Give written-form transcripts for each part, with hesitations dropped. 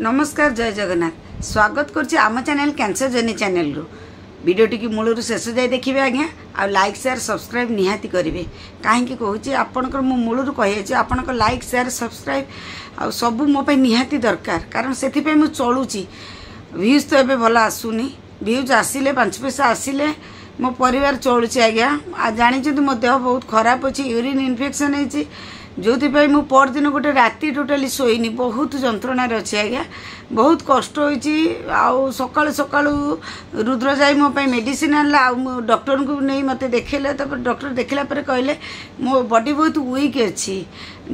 ନମସ୍କାର, ଜୟ ଜଗନ୍ନାଥ। ସ୍ୱାଗତ କରୁଛି ଆମ ଚ୍ୟାନେଲ୍ କ୍ୟାନ୍ସର ଜର୍ନି ଚ୍ୟାନେଲରୁ। ଭିଡ଼ିଓଟିକି ମୂଳରୁ ଶେଷ ଯାଏ ଦେଖିବେ ଆଜ୍ଞା, ଆଉ ଲାଇକ୍, ସେୟାର, ସବସ୍କ୍ରାଇବ୍ ନିହାତି କରିବେ। କାହିଁକି କହୁଛି ଆପଣଙ୍କର, ମୁଁ ମୂଳରୁ କହିଯାଇଛି, ଆପଣଙ୍କ ଲାଇକ୍, ସେୟାର, ସବସ୍କ୍ରାଇବ୍ ଆଉ ସବୁ ମୋ ପାଇଁ ନିହାତି ଦରକାର, କାରଣ ସେଥିପାଇଁ ମୁଁ ଚଳୁଛି। ଭ୍ୟୁଜ୍ ତ ଏବେ ଭଲ ଆସୁନି। ଭ୍ୟୁଜ୍ ଆସିଲେ, 5 ପଇସା ଆସିଲେ ମୋ ପରିବାର ଚଳୁଛି ଆଜ୍ଞା। ଆଉ ଜାଣିଛନ୍ତି, ମୋ ଦେହ ବହୁତ ଖରାପ ଅଛି, ୟୁରିନ୍ ଇନଫେକ୍ସନ୍ ହେଇଛି, ଯେଉଁଥିପାଇଁ ମୁଁ ପରଦିନ ଗୋଟେ ରାତି ଟୋଟାଲି ଶୋଇନି। ବହୁତ ଯନ୍ତ୍ରଣାରେ ଅଛି ଆଜ୍ଞା, ବହୁତ କଷ୍ଟ ହୋଇଛି। ଆଉ ସକାଳୁ ସକାଳୁ ରୁଦ୍ର ଯାଇ ମୋ ପାଇଁ ମେଡ଼ିସିନ ଆଣିଲା, ଆଉ ମୁଁ ଡକ୍ଟରଙ୍କୁ ନେଇ ମୋତେ ଦେଖେଇଲେ। ତାପରେ ଡକ୍ଟର ଦେଖିଲା ପରେ କହିଲେ ମୋ ବଡି ବହୁତ ୱିକ୍ ଅଛି,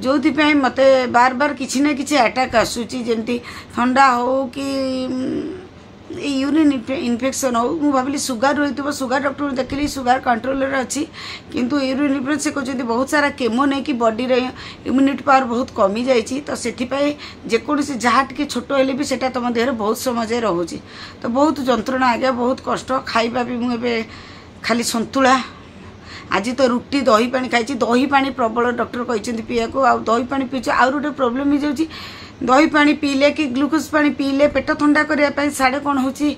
ଯେଉଁଥିପାଇଁ ମୋତେ ବାର ବାର କିଛି ନା କିଛି ଆଟାକ୍ ଆସୁଛି, ଯେମିତି ଥଣ୍ଡା ହେଉ କି ଏଇ ୟୁରିନ୍ ଇନଫେକ୍ସନ୍ ହେଉ। ମୁଁ ଭାବିଲି ସୁଗାର ରହିଥିବ। ସୁଗାର ଡକ୍ଟରଙ୍କୁ ଦେଖିଲି, ସୁଗାର କଣ୍ଟ୍ରୋଲରେ ଅଛି, କିନ୍ତୁ ୟୁରିନ୍ ଇନଫେକ୍ସନ୍ ସେ କହୁଛନ୍ତି ବହୁତ ସାରା କେମୋ ନେଇକି ବଡ଼ିରେ ଇମ୍ୟୁନିଟି ପାୱାର ବହୁତ କମିଯାଇଛି, ତ ସେଥିପାଇଁ ଯେକୌଣସି ଯାହା ଟିକେ ଛୋଟ ହେଲେ ବି ସେଇଟା ତୁମ ଦେହରେ ବହୁତ ସମୟ ଯାଏ ରହୁଛି। ତ ବହୁତ ଯନ୍ତ୍ରଣା ଆଜ୍ଞା, ବହୁତ କଷ୍ଟ। ଖାଇବା ବି ମୁଁ ଏବେ ଖାଲି ସନ୍ତୁଳା, ଆଜି ତ ରୁଟି ଦହି ପାଣି ଖାଇଛି। ଦହି ପାଣି ପ୍ରବଳ ଡକ୍ଟର କହିଛନ୍ତି ପିଇବାକୁ, ଆଉ ଦହି ପାଣି ପିଉଛି। ଆଉ ଗୋଟେ ପ୍ରୋବ୍ଲେମ୍ ହେଇଯାଉଛି, ଦହି ପାଣି ପିଇଲେ କି ଗ୍ଲୁକୋଜ୍ ପାଣି ପିଇଲେ ପେଟ ଥଣ୍ଡା କରିବା ପାଇଁ ସାଡ଼େ କ'ଣ ହେଉଛି,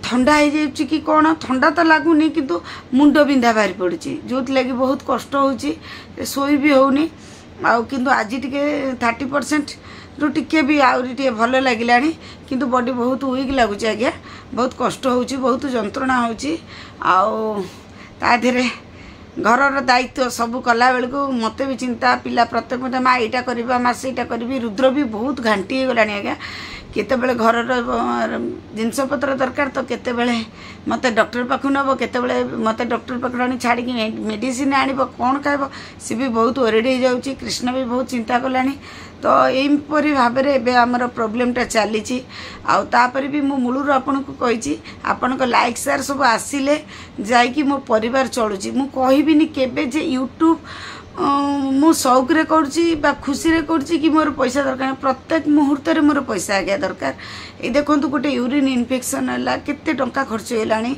ଥଣ୍ଡା ହେଇଯାଉଛି କି କ'ଣ। ଥଣ୍ଡା ତ ଲାଗୁନି, କିନ୍ତୁ ମୁଣ୍ଡ ବିନ୍ଧା ବାହାରି ପଡ଼ୁଛି, ଯେଉଁଥିଲାଗି ବହୁତ କଷ୍ଟ ହେଉଛି, ଶୋଇ ବି ହେଉନି। ଆଉ କିନ୍ତୁ ଆଜି ଟିକେ 30%ରୁ ଟିକେ ବି ଆହୁରି ଟିକେ ଭଲ ଲାଗିଲାଣି, କିନ୍ତୁ ବଡି ବହୁତ ୱିକ୍ ଲାଗୁଛି ଆଜ୍ଞା। ବହୁତ କଷ୍ଟ ହେଉଛି, ବହୁତ ଯନ୍ତ୍ରଣା ହେଉଛି। ଆଉ ତା ଦେହରେ ଘରର ଦାୟିତ୍ୱ ସବୁ କଲାବେଳକୁ ମୋତେ ବି ଚିନ୍ତା। ପିଲା ପ୍ରତ୍ୟେକ ମୋତେ ମା ଏଇଟା କରିବା, ମା ସେଇଟା କରିବି। ରୁଦ୍ର ବି ବହୁତ ଘାଣ୍ଟି ହେଇଗଲାଣି ଆଜ୍ଞା। କେତେବେଳେ ଘରର ଜିନିଷପତ୍ର ଦରକାର, ତ କେତେବେଳେ ମୋତେ ଡକ୍ଟର ପାଖକୁ ନେବ, କେତେବେଳେ ମୋତେ ଡକ୍ଟର ପାଖକୁ ଆଣି ଛାଡ଼ିକି ମେଡ଼ିସିନ ଆଣିବ, କ'ଣ ଖାଇବ, ସେ ବି ବହୁତ ୱରିଡ଼ ହେଇଯାଉଛି। କୃଷ୍ଣ ବି ବହୁତ ଚିନ୍ତା କଲାଣି। ତ ଏହିପରି ଭାବରେ ଏବେ ଆମର ପ୍ରୋବ୍ଲେମଟା ଚାଲିଛି। ଆଉ ତାପରେ ବି ମୁଁ ମୂଳରୁ ଆପଣଙ୍କୁ କହିଛି, ଆପଣଙ୍କ ଲାଇକ୍, ସେୟାର ସବୁ ଆସିଲେ ଯାଇକି ମୋ ପରିବାର ଚଳୁଛି। ମୁଁ କହିବିନି କେବେ ଯେ ୟୁଟ୍ୟୁବ୍ ମୁଁ ସଉକରେ କରୁଛି ବା ଖୁସିରେ କରୁଛି କି ମୋର ପଇସା ଦରକାର। ପ୍ରତ୍ୟେକ ମୁହୂର୍ତ୍ତରେ ମୋର ପଇସା ଆଜ୍ଞା ଦରକାର। ଏଇ ଦେଖନ୍ତୁ, ଗୋଟେ ୟୁରିନ୍ ଇନଫେକ୍ସନ୍ ହେଲା, କେତେ ଟଙ୍କା ଖର୍ଚ୍ଚ ହେଇଗଲାଣି।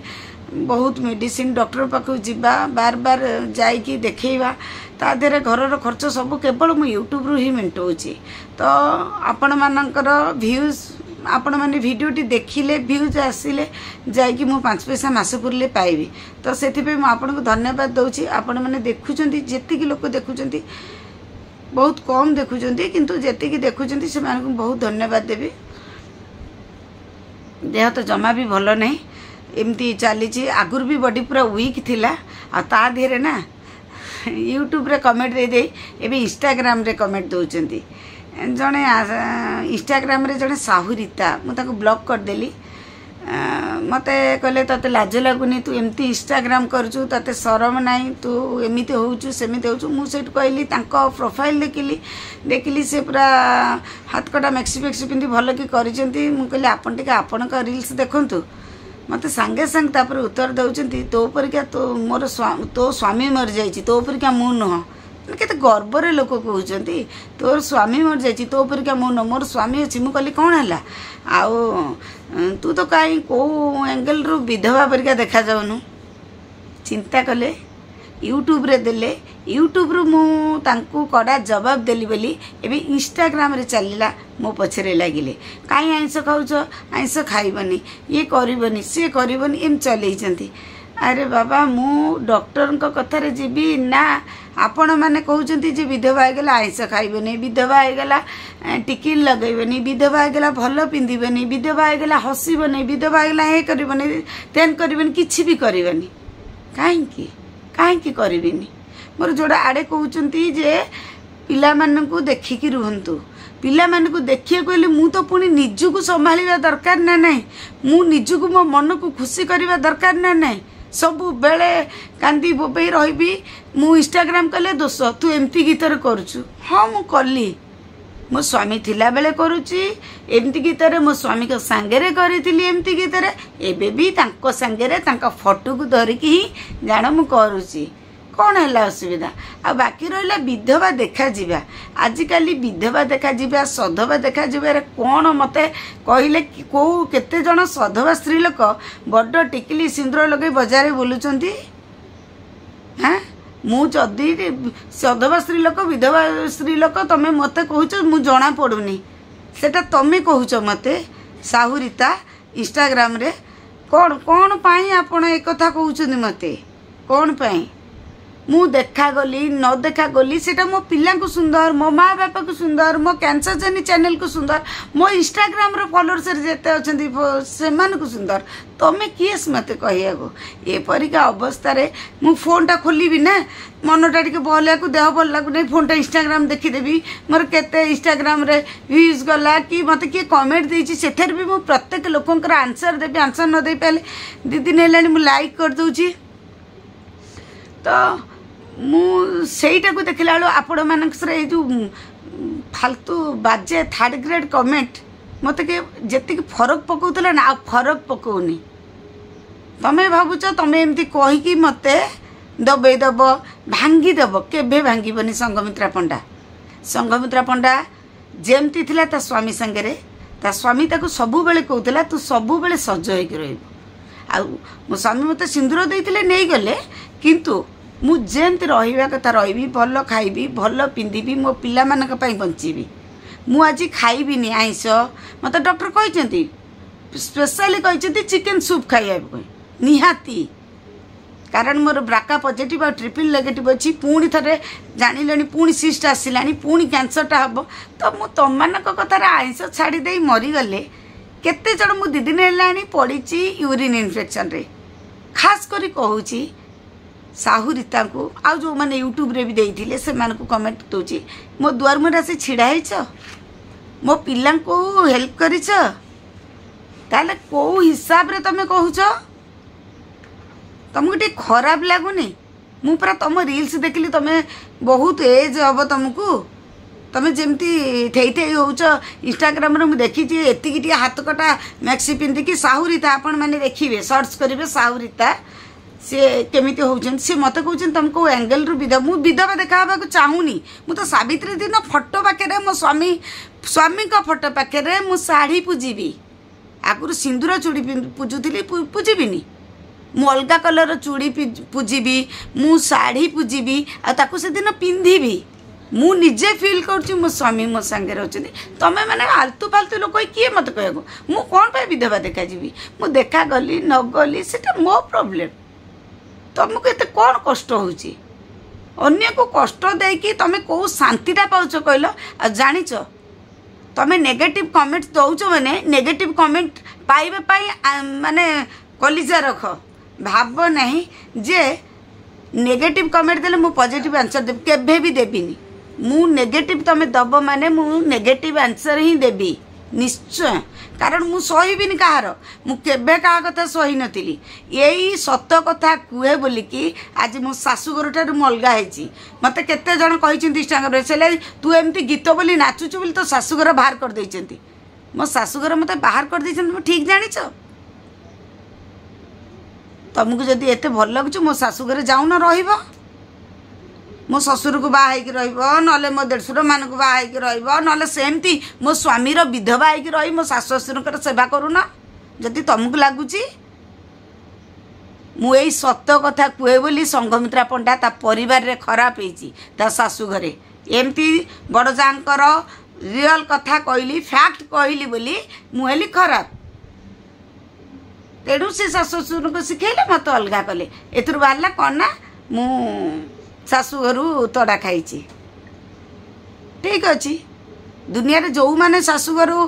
ବହୁତ ମେଡ଼ିସିନ, ଡକ୍ଟର ପାଖକୁ ଯିବା, ବାର ବାର ଯାଇକି ଦେଖେଇବା, ତା ଦେହରେ ଘରର ଖର୍ଚ୍ଚ ସବୁ କେବଳ ମୁଁ ୟୁଟ୍ୟୁବରୁ ହିଁ ମେଣ୍ଟଉଛି। ତ ଆପଣମାନଙ୍କର ଭ୍ୟୁଜ୍, ଆପଣମାନେ ଭିଡ଼ିଓଟି ଦେଖିଲେ, ଭ୍ୟୁଜ୍ ଆସିଲେ ଯାଇକି ମୁଁ 5 ପଇସା ମାସ ପୁରିଲେ ପାଇବି। ତ ସେଥିପାଇଁ ମୁଁ ଆପଣଙ୍କୁ ଧନ୍ୟବାଦ ଦେଉଛି। ଆପଣମାନେ ଦେଖୁଛନ୍ତି, ଯେତିକି ଲୋକ ଦେଖୁଛନ୍ତି, ବହୁତ କମ୍ ଦେଖୁଛନ୍ତି, କିନ୍ତୁ ଯେତିକି ଦେଖୁଛନ୍ତି ସେମାନଙ୍କୁ ବହୁତ ଧନ୍ୟବାଦ ଦେବି। ଦେହ ତ ଜମା ବି ଭଲ ନାହିଁ, ଏମିତି ଚାଲିଛି। ଆଗରୁ ବି ବଡି ପୁରା ୱିକ୍ ଥିଲା। ଆଉ ତା ଦେହରେ ନା ୟୁଟ୍ୟୁବରେ କମେଣ୍ଟ ଦେଇଦେଇ ଏବେ ଇନଷ୍ଟାଗ୍ରାମରେ କମେଣ୍ଟ ଦେଉଛନ୍ତି। ଜଣେ ଇନଷ୍ଟାଗ୍ରାମରେ ଜଣେ ସାହୁ ରୀତା, ମୁଁ ତାକୁ ବ୍ଲକ୍ କରିଦେଲି। ମୋତେ କହିଲେ, ତୋତେ ଲାଜ ଲାଗୁନି? ତୁ ଏମିତି ଇନଷ୍ଟାଗ୍ରାମ କରୁଛୁ, ତୋତେ ସରମ ନାହିଁ? ତୁ ଏମିତି ହେଉଛୁ, ସେମିତି ହେଉଛୁ। ମୁଁ ସେଇଠୁ କହିଲି, ତାଙ୍କ ପ୍ରୋଫାଇଲ୍ ଦେଖିଲି, ଦେଖିଲି ସେ ପୁରା ହାତକଟା ମେକ୍ସି ଫେକ୍ସି ପିନ୍ଧି ଭଲ କି କରିଛନ୍ତି। ମୁଁ କହିଲି, ଆପଣ ଟିକେ ଆପଣଙ୍କ ରିଲ୍ସ ଦେଖନ୍ତୁ। ମୋତେ ସାଙ୍ଗେ ସାଙ୍ଗେ ତାପରେ ଉତ୍ତର ଦେଉଛନ୍ତି, ତୋ ପରିକା ତୋ ମୋର ତୋ ସ୍ୱାମୀ ମରିଯାଇଛି, ତୋ ପରିକା ମୁଁ ନୁହଁ। କେତେ ଗର୍ବରେ ଲୋକ କହୁଛନ୍ତି, ତୋର ସ୍ୱାମୀ ମରିଯାଇଛି, ତୋ ପରିକା ମୁଁ ନୁହଁ, ମୋର ସ୍ୱାମୀ ଅଛି। ମୁଁ କହିଲି, କ'ଣ ହେଲା? ଆଉ ତୁ ତ କାହିଁ କେଉଁ ଆଙ୍ଗେଲରୁ ବିଧବା ପରିକା ଦେଖାଯାଉନୁ। ଚିନ୍ତା କଲେ, ୟୁଟ୍ୟୁବରେ ଦେଲେ, ୟୁଟ୍ୟୁବରୁ ମୁଁ ତାଙ୍କୁ କଡ଼ା ଜବାବ ଦେଲି ବୋଲି ଏବେ ଇନଷ୍ଟାଗ୍ରାମରେ ଚାଲିଲା, ମୋ ପଛରେ ଲାଗିଲେ। କାହିଁ ଆଇଁଷ ଖାଉଛ, ଆଇଁଷ ଖାଇବନି, ଇଏ କରିବନି, ସିଏ କରିବନି, ଏମିତି ଚଲେଇଛନ୍ତି। ଆରେ ବାବା, ମୁଁ ଡକ୍ଟରଙ୍କ କଥାରେ ଯିବି ନା ଆପଣମାନେ କହୁଛନ୍ତି ଯେ ବିଧବା ହେଇଗଲା ଆଇଁଷ ଖାଇବନି, ବିଧବା ହେଇଗଲା ଟିକିଲି ଲଗେଇବନି, ବିଧବା ହେଇଗଲା ଭଲ ପିନ୍ଧିବନି, ବିଧବା ହେଇଗଲା ହସିବନି, ବିଧବା ହେଇଗଲା ଏ କରିବନି, ତେନ୍ କରିବନି, କିଛି ବି କରିବନି? କାହିଁକି, କାହିଁକି କରିବିନି? ମୋର ଯୋଉଟା ଆଡ଼େ କହୁଛନ୍ତି ଯେ ପିଲାମାନଙ୍କୁ ଦେଖିକି ରୁହନ୍ତୁ। ପିଲାମାନଙ୍କୁ ଦେଖିବାକୁ ହେଲେ ମୁଁ ତ ପୁଣି ନିଜକୁ ସମ୍ଭାଳିବା ଦରକାର ନା ନାହିଁ? ମୁଁ ନିଜକୁ, ମୋ ମନକୁ ଖୁସି କରିବା ଦରକାର ନା ନାହିଁ? ସବୁବେଳେ କାନ୍ଦି ବୋବେଇ ରହିବି? ମୁଁ ଇନଷ୍ଟାଗ୍ରାମ କଲେ ଦୋଷ, ତୁ ଏମିତି ଗୀତରେ କରୁଛୁ। ହଁ, ମୁଁ କଲି। ମୋ ସ୍ୱାମୀ ଥିଲାବେଳେ କରୁଛି ଏମିତି ଗୀତରେ, ମୋ ସ୍ୱାମୀଙ୍କ ସାଙ୍ଗରେ କରିଥିଲି ଏମିତି ଗୀତରେ, ଏବେ ବି ତାଙ୍କ ସାଙ୍ଗରେ ତାଙ୍କ ଫଟୋକୁ ଧରିକି ହିଁ ଜାଣ ମୁଁ କରୁଛି। କ'ଣ ହେଲା ଅସୁବିଧା? ଆଉ ବାକି ରହିଲା ବିଧବା ଦେଖାଯିବା, ଆଜିକାଲି ବିଧବା ଦେଖାଯିବା, ସଧବା ଦେଖାଯିବାରେ କ'ଣ ମୋତେ କହିଲେ, କେଉଁ କେତେ ଜଣ ସଧବା ସ୍ତ୍ରୀ ଲୋକ ବଡ଼ ଟିକିଲି ସିନ୍ଦୁର ଲଗେଇ ବଜାରରେ ବୁଲୁଛନ୍ତି? ହାଁ, ମୁଁ ଯଦି ସଧବା ସ୍ତ୍ରୀ ଲୋକ, ବିଧବା ସ୍ତ୍ରୀ ଲୋକ, ତମେ ମୋତେ କହୁଛ ମୁଁ ଜଣା ପଡ଼ୁନି, ସେଟା ତମେ କହୁଛ ମୋତେ। ସାହୁରିତା ଇନଷ୍ଟାଗ୍ରାମରେ କ'ଣ କ'ଣ ପାଇଁ ଆପଣ ଏକଥା କହୁଛନ୍ତି ମୋତେ? କ'ଣ ପାଇଁ ମୁଁ ଦେଖାଗଲି ନ ଦେଖାଗଲି ସେଇଟା ମୋ ପିଲାଙ୍କୁ ସୁନ୍ଦର, ମୋ ମା ବାପାକୁ ସୁନ୍ଦର, ମୋ କ୍ୟାନ୍ସର ଜର୍ନି ଚ୍ୟାନେଲକୁ ସୁନ୍ଦର, ମୋ ଇନଷ୍ଟାଗ୍ରାମର ଫଲୋଅର୍ସରେ ଯେତେ ଅଛନ୍ତି ସେମାନଙ୍କୁ ସୁନ୍ଦର। ତମେ କିଏ ମୋତେ କହିବାକୁ? ଏପରିକା ଅବସ୍ଥାରେ ମୁଁ ଫୋନ୍ଟା ଖୋଲିବି ନା, ମନଟା ଟିକେ ଭଲ, ଦେହ ଭଲ ଲାଗୁନାହିଁ, ଫୋନ୍ଟା ଇନଷ୍ଟାଗ୍ରାମ ଦେଖିଦେବି, ମୋର କେତେ ଇନଷ୍ଟାଗ୍ରାମରେ ଭ୍ୟୁଜ୍ ଗଲା କି ମୋତେ କିଏ କମେଣ୍ଟ ଦେଇଛି, ସେଥିରେ ବି ମୁଁ ପ୍ରତ୍ୟେକ ଲୋକଙ୍କର ଆନ୍ସର୍ ଦେବି। ଆନ୍ସର୍ ନ ଦେଇପାରିଲେ 2 ଦିନ ହେଲାଣି ମୁଁ ଲାଇକ୍ କରିଦେଉଛି। ତ ମୁଁ ସେଇଟାକୁ ଦେଖିଲା ବେଳୁ ଆପଣମାନଙ୍କର ଏଇ ଯେଉଁ ଫାଲତୁ ବାଜେ ଥାର୍ଡ଼ ଗ୍ରେଡ଼୍ କମେଣ୍ଟ ମୋତେ ଯେତିକି ଫରକ ପକାଉଥିଲା ନା, ଆଉ ଫରକ ପକାଉନି। ତମେ ଭାବୁଛ ତମେ ଏମିତି କହିକି ମୋତେ ଦବେଇ ଦେବ, ଭାଙ୍ଗିଦେବ। କେବେ ଭାଙ୍ଗିବନି ସଂଘମିତ୍ରା ପଣ୍ଡା। ସଂଘମିତ୍ରା ପଣ୍ଡା ଯେମିତି ଥିଲା ତା ସ୍ୱାମୀ ସାଙ୍ଗରେ, ତା ସ୍ୱାମୀ ତାକୁ ସବୁବେଳେ କହୁଥିଲା ତୁ ସବୁବେଳେ ସଜ ହେଇକି ରହିବୁ। ଆଉ ମୋ ସ୍ୱାମୀ ମୋତେ ସିନ୍ଦୁର ଦେଇଥିଲେ, ନେଇଗଲେ, କିନ୍ତୁ ମୁଁ ଯେମିତି ରହିବା କଥା ରହିବି, ଭଲ ଖାଇବି, ଭଲ ପିନ୍ଧିବି, ମୋ ପିଲାମାନଙ୍କ ପାଇଁ ବଞ୍ଚିବି। ମୁଁ ଆଜି ଖାଇବିନି ଆଇଁଷ, ମୋତେ ଡକ୍ଟର କହିଛନ୍ତି, ସ୍ପେଶାଲି କହିଛନ୍ତି ଚିକେନ୍ ସୁପ୍ ଖାଇବା ପାଇଁ ନିହାତି, କାରଣ ମୋର ବ୍ରାକା ପଜିଟିଭ୍ ଆଉ ଟ୍ରିପଲ୍ ନେଗେଟିଭ୍ ଅଛି। ପୁଣି ଥରେ ଜାଣିଲେଣି, ପୁଣି ସିଷ୍ଟ ଆସିଲାଣି, ପୁଣି କ୍ୟାନ୍ସରଟା ହେବ। ତ ମୁଁ ତମମାନଙ୍କ କଥାରେ ଆଇଁଷ ଛାଡ଼ି ଦେଇ ମରିଗଲେ କେତେ ଜଣ? ମୁଁ 2 ଦିନ ହେଲାଣି ପଡ଼ିଛି ୟୁରିନ୍ ଇନଫେକ୍ସନରେ। ଖାସ କରି କହୁଛି ସାହୁ ରୀତାଙ୍କୁ, ଆଉ ଯେଉଁମାନେ ୟୁଟ୍ୟୁବରେ ବି ଦେଇଥିଲେ ସେମାନଙ୍କୁ କମେଣ୍ଟ ଦେଉଛି, ମୋ ଦୁଆର ମୁହଁରେ ଆସି ଛିଡ଼ା ହେଇଛ, ମୋ ପିଲାଙ୍କୁ ହେଲ୍ପ କରିଛ, ତାହେଲେ କେଉଁ ହିସାବରେ ତମେ କହୁଛ? ତମକୁ ଟିକେ ଖରାପ ଲାଗୁନି? ମୁଁ ପରା ତମ ରିଲ୍ସ ଦେଖିଲି, ତମେ ବହୁତ ଏଜ୍ ହେବ ତମକୁ, ତମେ ଯେମିତି ଥେଇ ଥେଇ ହେଉଛ ଇନଷ୍ଟାଗ୍ରାମରେ ମୁଁ ଦେଖିଛି, ଏତିକି ଟିକେ ହାତ କଟା ମ୍ୟାକ୍ସି ପିନ୍ଧିକି। ସାହୁରିତା ଆପଣମାନେ ଦେଖିବେ, ସର୍ଚ୍ଚ କରିବେ ସାହୁରିତା, ସିଏ କେମିତି ହେଉଛନ୍ତି। ସିଏ ମୋତେ କହୁଛନ୍ତି ତମେ କେଉଁ ଆଙ୍ଗେଲରୁ ବିଧବା? ମୁଁ ବିଧବା ଦେଖା ହେବାକୁ ଚାହୁଁନି। ମୁଁ ତ ସାବିତ୍ରୀ ଦିନ ଫଟୋ ପାଖରେ, ମୋ ସ୍ୱାମୀଙ୍କ ଫଟୋ ପାଖରେ ମୁଁ ଶାଢ଼ୀ ପୂଜିବି। ଆଗରୁ ସିନ୍ଦୁର ଚୁଡ଼ି ପୂଜୁଥିଲି, ପୂଜିବିନି? ମୁଁ ଅଲଗା କଲର୍ର ଚୁଡ଼ି ପୂଜିବି, ମୁଁ ଶାଢ଼ୀ ପୂଜିବି, ଆଉ ତାକୁ ସେଦିନ ପିନ୍ଧିବି। ମୁଁ ନିଜେ ଫିଲ୍ କରୁଛି ମୋ ସ୍ୱାମୀ ମୋ ସାଙ୍ଗରେ ଅଛନ୍ତି। ତମେ ମାନେ ଆଲତୁ ଫାଲତୁ ଲୋକ କିଏ ମୋତେ କହିବାକୁ ମୁଁ କ'ଣ ପାଇଁ ବିଧବା ଦେଖାଯିବି? ମୁଁ ଦେଖାଗଲି ନ ଗଲି ସେଇଟା ମୋ ପ୍ରୋବ୍ଲେମ୍। ତମକୁ ଏତେ କ'ଣ କଷ୍ଟ ହେଉଛି? ଅନ୍ୟକୁ କଷ୍ଟ ଦେଇକି ତମେ କେଉଁ ଶାନ୍ତିଟା ପାଉଛ କହିଲ? ଆଉ ଜାଣିଛ, ତମେ ନେଗେଟିଭ୍ କମେଣ୍ଟ ଦେଉଛ ମାନେ ନେଗେଟିଭ୍ କମେଣ୍ଟ ପାଇବା ପାଇଁ ମାନେ କଲିଜା ରଖ। ଭାବ ନାହିଁ ଯେ ନେଗେଟିଭ୍ କମେଣ୍ଟ ଦେଲେ ମୁଁ ପଜିଟିଭ୍ ଆନ୍ସର୍ ଦେବି, କେବେ ବି ଦେବିନି। ମୁଁ ନେଗେଟିଭ୍ ତମେ ଦେବ ମାନେ ମୁଁ ନେଗେଟିଭ୍ ଆନ୍ସର୍ ହିଁ ଦେବି ନିଶ୍ଚୟ, କାରଣ ମୁଁ ସହିବିନି କାହାର। ମୁଁ କେବେ କାହା କଥା ସହିନଥିଲି। ଏଇ ସତ କଥା କୁହେ ବୋଲିକି ଆଜି ମୋ ଶାଶୁଘରଠାରୁ ମୁଁ ଅଲଗା ହେଇଛି। ମୋତେ କେତେ ଜଣ କହିଛନ୍ତି ଇନଷ୍ଟାଗ୍ରାମରେ, ସେ ତୁ ଏମିତି ଗୀତ ବୋଲି ନାଚୁଛୁ ବୋଲି ତୋ ଶାଶୁଘର ବାହାର କରିଦେଇଛନ୍ତି। ମୋ ଶାଶୁଘର ମୋତେ ବାହାର କରିଦେଇଛନ୍ତି, ମୁଁ ଠିକ୍ ଜାଣିଛ। ତମକୁ ଯଦି ଏତେ ଭଲ ଲାଗୁଛି ମୋ ଶାଶୁଘରେ ଯାଉନ ରହିବ, ମୋ ଶ୍ୱଶୁରକୁ ବାହା ହେଇକି ରହିବ, ନହେଲେ ମୋ ଦେଢ଼ଶୁରମାନଙ୍କୁ ବାହା ହେଇକି ରହିବ, ନହେଲେ ସେମିତି ମୋ ସ୍ୱାମୀର ବିଧବା ହେଇକି ରହି ମୋ ଶାଶୁ ଶ୍ୱଶୁରଙ୍କର ସେବା କରୁନ। ଯଦି ତମକୁ ଲାଗୁଛି ମୁଁ ଏଇ ସତ କଥା କୁହେ ବୋଲି ସଂଘମିତ୍ରା ପଣ୍ଡା ତା ପରିବାରରେ ଖରାପ ହେଇଛି, ତା ଶାଶୁ ଘରେ ଏମିତି ବଡ଼ ଯାଙ୍କର ରିଅଲ୍ କଥା କହିଲି, ଫ୍ୟାକ୍ଟ କହିଲି ବୋଲି ମୁଁ ହେଲି ଖରାପ। ତେଣୁ ସେ ଶାଶୁ ଶ୍ୱଶୁରଙ୍କୁ ଶିଖେଇଲେ, ମୋତେ ଅଲଗା କଲେ। ଏଥିରୁ ବାହାରିଲା କ'ଣ ନା ମୁଁ ଶାଶୁଘରୁ ତଡ଼ା ଖାଇଛି। ଠିକ୍ ଅଛି, ଦୁନିଆରେ ଯେଉଁମାନେ ଶାଶୁଘରୁ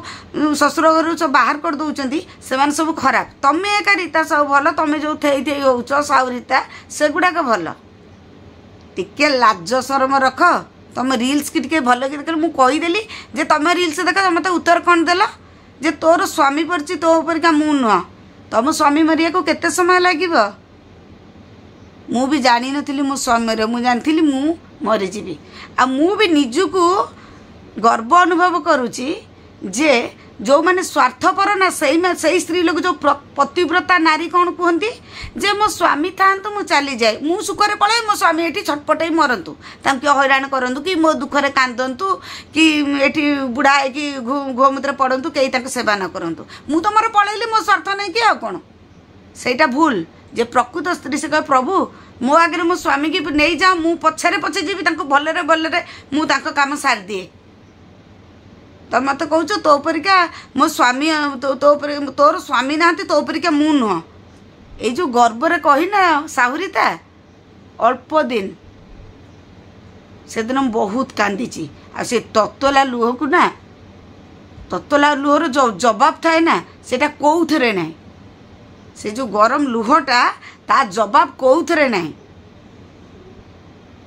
ଶ୍ୱଶୁର ଘରୁ ସବୁ ବାହାର କରିଦେଉଛନ୍ତି ସେମାନେ ସବୁ ଖରାପ। ତମେ ଏକା ରୀତା ସବୁ ଭଲ, ତମେ ଯେଉଁ ଥେଇ ଥେଇ ହେଉଛ ସାହୁ ରୀତା ସେଗୁଡ଼ାକ ଭଲ। ଟିକେ ଲାଜ ସରମ ରଖ। ତମ ରିଲ୍ସକି ଟିକେ ଭଲ କି ଦେଖ। ମୁଁ କହିଦେଲି ଯେ ତମେ ରିଲ୍ସ ଦେଖ, ମୋତେ ଉତ୍ତର କ'ଣ ଦେଲ? ଯେ ତୋର ସ୍ୱାମୀ ପଡ଼ିଛି ତୋ ପରିକା ମୁଁ ନୁହଁ। ତମ ସ୍ୱାମୀ ମରିବାକୁ କେତେ ସମୟ ଲାଗିବ? ମୁଁ ବି ଜାଣିନଥିଲି ମୋ ସ୍ୱାମୀ ମରିବ, ମୁଁ ଜାଣିଥିଲି ମୁଁ ମରିଯିବି। ଆଉ ମୁଁ ବି ନିଜକୁ ଗର୍ବ ଅନୁଭବ କରୁଛି ଯେ ଯେଉଁମାନେ ସ୍ୱାର୍ଥପର ନା, ସେଇ ସ୍ତ୍ରୀ ଲୋକ ଯେଉଁ ପତିବ୍ରତା ନାରୀ କ'ଣ କୁହନ୍ତି ଯେ ମୋ ସ୍ୱାମୀ ଥାଆନ୍ତୁ ମୁଁ ଚାଲିଯାଏ, ମୁଁ ସୁଖରେ ପଳାଏ, ମୋ ସ୍ୱାମୀ ଏଠି ଛଟପଟ ହେଇ ମରନ୍ତୁ, ତାଙ୍କୁ କିଏ ହଇରାଣ କରନ୍ତୁ କି ମୋ ଦୁଃଖରେ କାନ୍ଦନ୍ତୁ କି ଏଠି ବୁଢ଼ା ହେଇକି ଗୋମୂତ୍ର ପଡ଼ନ୍ତୁ, କେହି ତାଙ୍କୁ ସେବା ନ କରନ୍ତୁ, ମୁଁ ତ ମୋର ପଳେଇଲି ମୋ ସ୍ୱାର୍ଥ ନେଇକି, ଆଉ କ'ଣ? ସେଇଟା ଭୁଲ। ଯେ ପ୍ରକୃତ ସ୍ତ୍ରୀ ସେ କହେ ପ୍ରଭୁ ମୋ ଆଗରେ ମୋ ସ୍ୱାମୀକି ନେଇଯାଅ, ମୁଁ ପଛରେ ପଛେ ଯିବି, ତାଙ୍କୁ ଭଲରେ ଭଲରେ ମୁଁ ତାଙ୍କ କାମ ସାରିଦିଏ। ତମେ ମୋତେ କହୁଛ ତୋ ପରିକା ମୋ ସ୍ୱାମୀ, ତୋ ପରି ତୋର ସ୍ୱାମୀ ନାହାନ୍ତି, ତୋ ପରିକା ମୁଁ ନୁହଁ। ଏଇ ଯେଉଁ ଗର୍ବରେ କହିନା ସାହୁରିତା, ଅଳ୍ପ ଦିନ। ସେଦିନ ମୁଁ ବହୁତ କାନ୍ଦିଛି। ଆଉ ସେ ତତଲା ଲୁହକୁ ନା, ତତଲା ଲୁହର ଜବାବ ଥାଏ ନା, ସେଇଟା କେଉଁଥିରେ ନାହିଁ। ସେ ଯେଉଁ ଗରମ ଲୁହଟା, ତା ଜବାବ କେଉଁଥିରେ ନାହିଁ।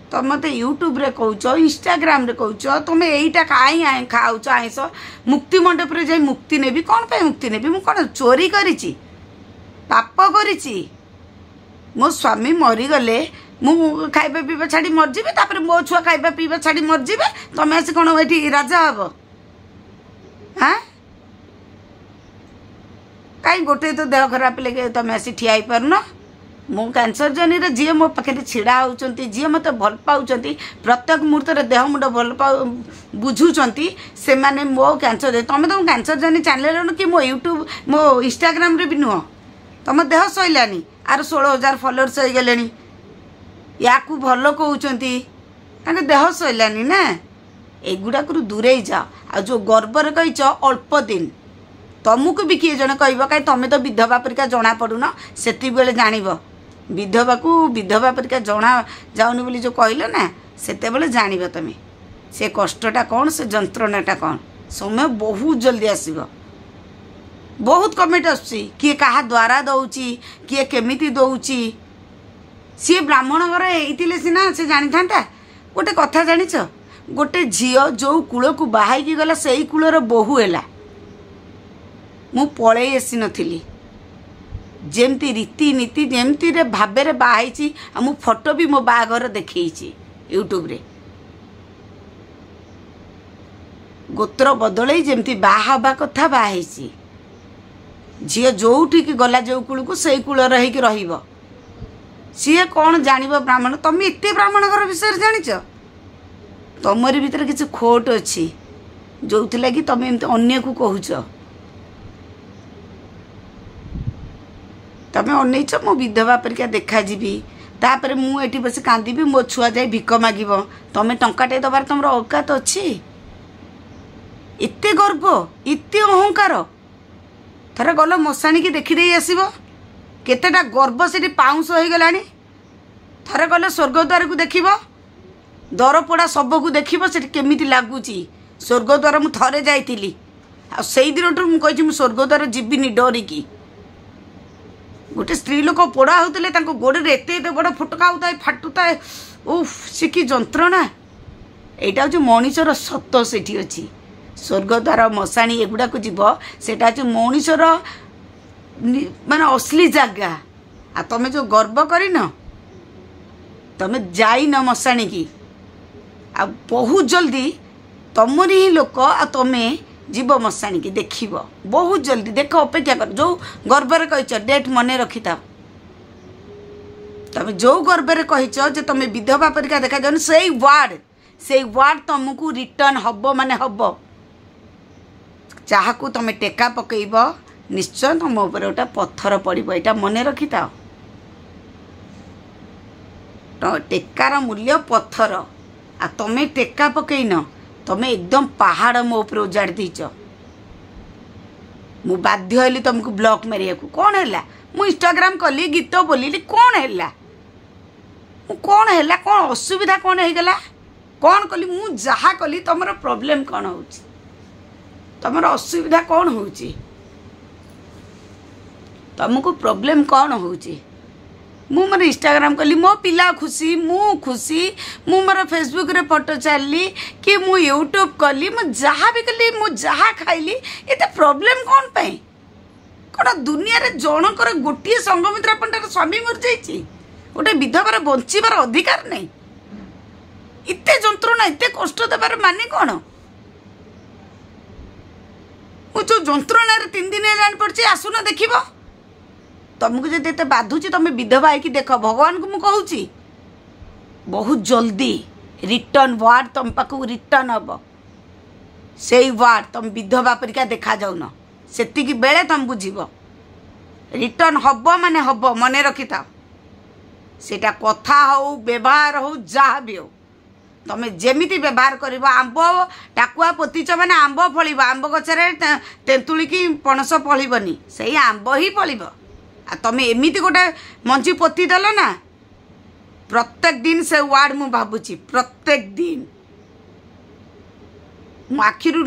ତମେ ମୋତେ ୟୁଟ୍ୟୁବରେ କହୁଛ, ଇନଷ୍ଟାଗ୍ରାମରେ କହୁଛ, ତୁମେ ଏଇଟା କାହିଁ ଖାଉଛ ଆଇଁଷ? ମୁକ୍ତି ମଣ୍ଡପରେ ଯାଇ ମୁକ୍ତି ନେବି। କ'ଣ ପାଇଁ ମୁକ୍ତି ନେବି? ମୁଁ କ'ଣ ଚୋରି କରିଛି, ପାପ କରିଛି? ମୋ ସ୍ୱାମୀ ମରିଗଲେ ମୁଁ ଖାଇବା ପିଇବା ଛାଡ଼ି ମରିଯିବି, ତାପରେ ମୋ ଛୁଆ ଖାଇବା ପିଇବା ଛାଡ଼ି ମରିଯିବେ, ତମେ ଆସି କ'ଣ ଏଠି ରାଜା ହବ? ହାଁ, କାହିଁ ଗୋଟେ ତ ଦେହ ଖରାପ ହେଲେ ତମେ ଆସି ଠିଆ ହେଇପାରୁନ? ମୁଁ କ୍ୟାନ୍ସର ଜର୍ଣ୍ଣିରେ ଯିଏ ମୋ ପାଖରେ ଛିଡ଼ା ହେଉଛନ୍ତି, ଯିଏ ମୋତେ ଭଲ ପାଉଛନ୍ତି, ପ୍ରତ୍ୟେକ ମୁହୂର୍ତ୍ତରେ ଦେହ ମୁଣ୍ଡ ଭଲ ପାଉ ବୁଝୁଛନ୍ତି, ସେମାନେ ମୋ କ୍ୟାନ୍ସର। ତମେ ତ କ୍ୟାନ୍ସର ଜର୍ଣ୍ଣି ଚ୍ୟାନେଲରେ କି ମୋ ୟୁଟ୍ୟୁବ, ମୋ ଇନଷ୍ଟାଗ୍ରାମରେ ବି ନୁହଁ। ତମ ଦେହ ସଇଲାନି, ଆର 16,000 ଫଲୋଅର୍ସ ହେଇଗଲେଣି, ୟାକୁ ଭଲ କହୁଛନ୍ତି, ତାଙ୍କ ଦେହ ସଇଲାନି ନା। ଏଗୁଡ଼ାକରୁ ଦୂରେଇ ଯାଅ। ଆଉ ଯେଉଁ ଗର୍ବରେ କହିଛ ଅଳ୍ପ ଦିନ, ତମକୁ ବି କିଏ ଜଣେ କହିବ କାହିଁ ତମେ ତ ବିଧବା ପରିକା ଜଣାପଡ଼ୁନ, ସେତିକିବେଳେ ଜାଣିବ। ବିଧବାକୁ ବିଧବା ପରିକା ଜଣା ଯାଉନି ବୋଲି ଯେଉଁ କହିଲ ନା, ସେତେବେଳେ ଜାଣିବ ତମେ ସେ କଷ୍ଟଟା କ'ଣ, ସେ ଯନ୍ତ୍ରଣାଟା କ'ଣ। ସମୟ ବହୁତ ଜଲ୍ଦି ଆସିବ। ବହୁତ କମେଣ୍ଟ ଆସୁଛି, କିଏ କାହା ଦ୍ୱାରା ଦେଉଛି, କିଏ କେମିତି ଦେଉଛି। ସିଏ ବ୍ରାହ୍ମଣ ଘର ହେଇଥିଲେ ସିନା ସେ ଜାଣିଥାନ୍ତା। ଗୋଟେ କଥା ଜାଣିଛ, ଗୋଟେ ଝିଅ ଯେଉଁ କୂଳକୁ ବାହା ହେଇକି ଗଲା ସେଇ କୂଳର ବୋହୂ ହେଲା। ମୁଁ ପଳେଇ ଆସିନଥିଲି, ଯେମିତି ରୀତିନୀତି ଯେମିତିରେ ଭାବରେ ବାହା ହେଇଛି। ଆଉ ମୁଁ ଫଟୋ ବି ମୋ ବାହାଘର ଦେଖେଇଛି ୟୁଟ୍ୟୁବରେ। ଗୋତ୍ର ବଦଳେଇ ଯେମିତି ବାହା ହେବା କଥା ବାହା ହେଇଛି। ଝିଅ ଯେଉଁଠିକି ଗଲା ଯେଉଁ କୂଳକୁ ସେଇ କୂଳର ହେଇକି ରହିବ। ସିଏ କ'ଣ ଜାଣିବ ବ୍ରାହ୍ମଣ? ତମେ ଏତେ ବ୍ରାହ୍ମଣ ଘର ବିଷୟରେ ଜାଣିଛ? ତମରି ଭିତରେ କିଛି ଖୋଟ ଅଛି, ଯେଉଁଥିଲାଗି ତମେ ଏମିତି ଅନ୍ୟକୁ କହୁଛ। ତମେ ଅନେଇଛ ମୁଁ ବିଧବା ପରିକା ଦେଖାଯିବି, ତାପରେ ମୁଁ ଏଠି ବସି କାନ୍ଦିବି, ମୋ ଛୁଆ ଯାଇ ଭିକ ମାଗିବ। ତମେ ଟଙ୍କାଟେ ଦେବାର ତମର ଔକାତ ଅଛି? ଏତେ ଗର୍ବ, ଏତେ ଅହଙ୍କାର। ଥରେ ଗଲ ମଶାଣିକି ଦେଖିଦେଇ ଆସିବ, କେତେଟା ଗର୍ବ ସେଠି ପାଉଁଶ ହେଇଗଲାଣି। ଥରେ ଗଲେ ସ୍ୱର୍ଗଦ୍ୱାରକୁ ଦେଖିବ, ଦରପୋଡ଼ା ଶବକୁ ଦେଖିବ, ସେଠି କେମିତି ଲାଗୁଛି। ସ୍ୱର୍ଗଦ୍ୱାର ମୁଁ ଥରେ ଯାଇଥିଲି, ଆଉ ସେଇ ଦିନଠୁ ମୁଁ କହିଛି ମୁଁ ସ୍ୱର୍ଗଦ୍ୱାର ଯିବିନି ଡରିକି। ଗୋଟେ ସ୍ତ୍ରୀ ଲୋକ ପୋଡ଼ା ହେଉଥିଲେ, ତାଙ୍କ ଗୋଡ଼ରେ ଏତେ ଏତେ ବଡ଼ ଫୁଟକା ହେଉଥାଏ, ଫାଟୁଥାଏ, ଉଫ୍ ସେ କି ଯନ୍ତ୍ରଣା। ଏଇଟା ହେଉଛି ମଣିଷର ସତ ସେଠି ଅଛି। ସ୍ୱର୍ଗଦ୍ୱାର, ମଶାଣି ଏଗୁଡ଼ାକୁ ଯିବ, ସେଇଟା ହେଉଛି ମଣିଷର ମାନେ ଅସଲି ଜାଗା। ଆଉ ତମେ ଯେଉଁ ଗର୍ବ କରିନ, ତମେ ଯାଇନ ମଶାଣିକି, ଆଉ ବହୁତ ଜଲ୍ଦି ତମରି ହିଁ ଲୋକ ଆଉ ତମେ ଯିବ ମଶାଣିକି ଦେଖିବ ବହୁତ ଜଲ୍ଦି। ଦେଖ, ଅପେକ୍ଷା କର। ଯେଉଁ ଗର୍ବରେ କହିଛ ଡେଟ୍ ମନେ ରଖିଥାଅ। ତମେ ଯେଉଁ ଗର୍ବରେ କହିଛ ଯେ ତମେ ବିଧବା ପରିକା ଦେଖାଯାଉନି, ସେଇ ୱାର୍ଡ଼, ସେଇ ୱାର୍ଡ଼ ତମକୁ ରିଟର୍ଣ୍ଣ ହବ, ମାନେ ହବ। ଯାହାକୁ ତମେ ଟେକା ପକେଇବ ନିଶ୍ଚୟ ତମ ଉପରେ ଗୋଟେ ପଥର ପଡ଼ିବ, ଏଇଟା ମନେ ରଖିଥାଅ। ଟେକାର ମୂଲ୍ୟ ପଥର, ଆଉ ତମେ ଟେକା ପକେଇନ, ତମେ ଏକଦମ ପାହାଡ଼ ମୋ ଉପରେ ଉଜାଡ଼ି ଦେଇଛ। ମୁଁ ବାଧ୍ୟ ହେଲି ତମକୁ ବ୍ଲକ୍ ମାରିବାକୁ। କ'ଣ ହେଲା? ମୁଁ ଇନଷ୍ଟାଗ୍ରାମ କଲି, ଗୀତ ବୋଲିଲି, କ'ଣ ହେଲା? ମୁଁ କ'ଣ ହେଲା? କ'ଣ ଅସୁବିଧା କ'ଣ ହେଇଗଲା? କ'ଣ କଲି ମୁଁ? ଯାହା କଲି ତମର ପ୍ରୋବ୍ଲେମ୍ କ'ଣ ହେଉଛି? ତମର ଅସୁବିଧା କ'ଣ ହେଉଛି? ତମକୁ ପ୍ରୋବ୍ଲେମ୍ କ'ଣ ହେଉଛି? ମୁଁ ମୋର ଇନଷ୍ଟାଗ୍ରାମ କଲି, ମୋ ପିଲା ଖୁସି, ମୁଁ ଖୁସି, ମୁଁ ମୋର ଫେସବୁକ୍ରେ ଫଟୋ ଛାଡ଼ିଲି କି ମୁଁ ୟୁଟ୍ୟୁବ୍ କଲି, ମୁଁ ଯାହା ବି କଲି, ମୁଁ ଯାହା ଖାଇଲି, ଏତେ ପ୍ରୋବ୍ଲେମ୍ କ'ଣ ପାଇଁ? କ'ଣ ଦୁନିଆରେ ଜଣଙ୍କର ଗୋଟିଏ ସଙ୍ଗମିତ୍ରା ପଣ୍ଡାର ସ୍ୱାମୀ ମରିଯାଇଛି, ଗୋଟେ ବିଧବାର ବଞ୍ଚିବାର ଅଧିକାର ନାହିଁ? ଏତେ ଯନ୍ତ୍ରଣା, ଏତେ କଷ୍ଟ ଦେବାର ମାନେ କ'ଣ? ମୁଁ ଯେଉଁ ଯନ୍ତ୍ରଣାରେ 3 ଦିନ ହେଲାଣି ପଡ଼ିଛି, ଆସୁନ ଦେଖିବ। ତମକୁ ଯଦି ଏତେ ବାଧୁଛି ତମେ ବିଧବା ହେଇକି ଦେଖ। ଭଗବାନଙ୍କୁ ମୁଁ କହୁଛି, ବହୁତ ଜଲ୍ଦି ରିଟର୍ଣ୍ଣ ୱାର୍ଡ଼ ତମ ପାଖକୁ ରିଟର୍ଣ୍ଣ ହବ। ସେଇ ୱାର୍ଡ଼, ତମେ ବିଧବା ପରିକା ଦେଖାଯାଉନ, ସେତିକି ବେଳେ ତମେ ବୁଝିବ। ରିଟର୍ନ ହବ ମାନେ ହବ, ମନେ ରଖିଥାଅ। ସେଇଟା କଥା ହଉ, ବ୍ୟବହାର ହଉ, ଯାହା ବି ହଉ, ତମେ ଯେମିତି ବ୍ୟବହାର କରିବ। ଆମ୍ବ ଟାକୁଆ ପୋତିଛ ମାନେ ଆମ୍ବ ଫଳିବ, ଆମ୍ବ ଗଛରେ ତେନ୍ତୁଳି କି ପଣସ ଫଳିବନି, ସେଇ ଆମ୍ବ ହିଁ ଫଳିବ। ଆଉ ତମେ ଏମିତି ଗୋଟେ ମଞ୍ଜି ପୋତିଦେଲ ନା, ପ୍ରତ୍ୟେକ ଦିନ ସେ ୱାର୍ଡ଼ ମୁଁ ଭାବୁଛି, ପ୍ରତ୍ୟେକ ଦିନ ମୋ ଆଖିରୁ